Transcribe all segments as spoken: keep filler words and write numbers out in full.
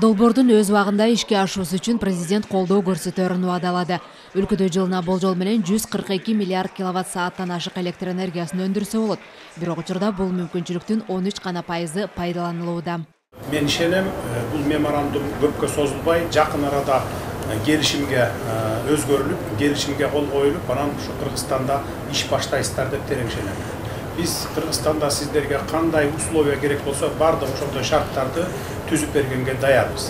Долбоордун өз убагында ишке ашуусу үчүн президент колдоо көрсөтөрүн убадалады. Өлкөдө жылына болжол менен жүз кырк эки миллиард киловатт сааттан ашык электр энергиясын өндүрсө болот. Бирок учурда бул мүмкүнчүлүктүн он үч гана пайызы пайдаланылууда. Мен ишенем, бул меморандум көпкө созулбай, жакын арада келишимге өзгөрүлүп, келишимге кол коюлуп, анан ушу Кыргызстанда иш баштайсыздар деп терең ишенем. Биз Кыргызстанда сиздерге кандай условия керек болсо, бардык ошондой шарттарды түзүп бергенге даярбыз.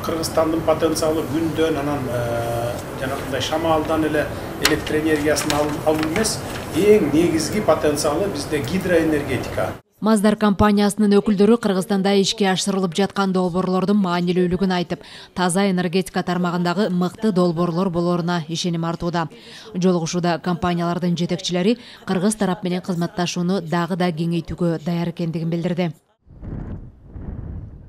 Кыргызстандын потенциалы күндөн, анан жанагындай шамалдан эле электр энергиясын алуу эмес, эң негизги потенциалы бизде гидроэнергетика. Маздар компаниясынын өкүлдөрү Кыргызстанда ишке ашырылып жаткан долбоорлордун маанилүүлүгүн айтып, таза энергетика тармагындагы мыкты долбоорлор болоруна ишеним артууда. Жолугушууда компаниялардын жетекчилери кыргыз тарап менен кызматташууну дагы да кеңейтүүгө даяр экендигин билдирди.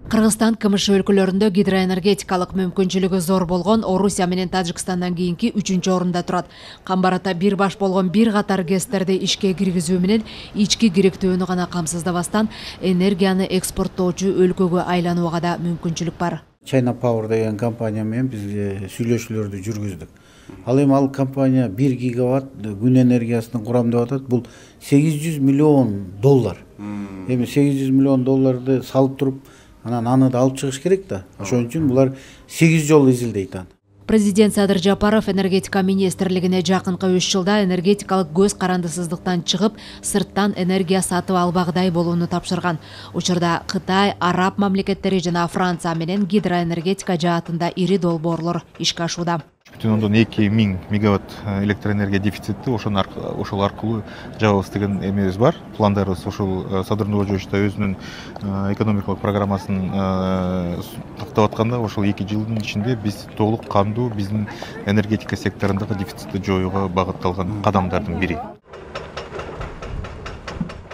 Кыргызстан КМШ өлкөлөрүндө гидроэнергетикалык мүмкүнчүлүгү зор болгон Орусия менен Тажикстандан кийинки үчүнчү орунда турат. Камбарата бир баш болгон бир катар ГЭСтерди ишке киргизүү менен ички кириктөөнү гана камсыздабастан энергияны экспорттоочу өлкөгө айланууга да мүмкүнчүлүк бар. China Power деген компания менен биз сүйлөшүүлөрдү жүргүздүк. Ал эми ал компания бир гигаватт күн энергиясын курам деп атат. Бул сегиз жүз миллион доллар. Эми сегиз жүз миллион долларды салып туруп, анан аны да алып чыгыш керек да. Ошон үчүн булар сегиз жолу изилдейт аны. Президент Садыр Жапаров энергетика министрлигине жакынкы үч жылда энергетикалык көз карандысыздыктан чыгып, сырттан энергия сатып албагыдай болууну тапшырган. Учурда Кытай, Араб мамлекеттери жана Франция менен гидроэнергетика жаатында ири долбоорлор ишке ашууда. бүтүн ондон эки миң мегаватт электр энергия дефицитти ошол аркылуу жабабыз деген эмебиз бар. Пландарыбыз ошол Садыр Нуржевич да өзүнүн экономикалык программасын тактап атканда ошол эки жылдын ичинде биз толук кандуу биздин энергетика секторундагы дефицитти жоюуга багытталган кадамдардын бири.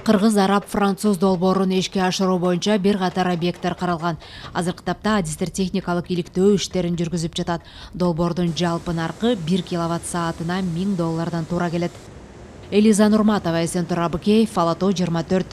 Кыргыз, араб, француз долбоорун ишке ашыруу боюнча бир катар объекттер каралган. Азыркы тапта адистер техникалык иликтөө иштерин жүргүзүп жатат. Долбоордун жалпы наркы бир киловатт саатына миң доллардан туура келет. Элиза Нурматова, Эсентур Абыкеев, Ала Тоо жыйырма төрт.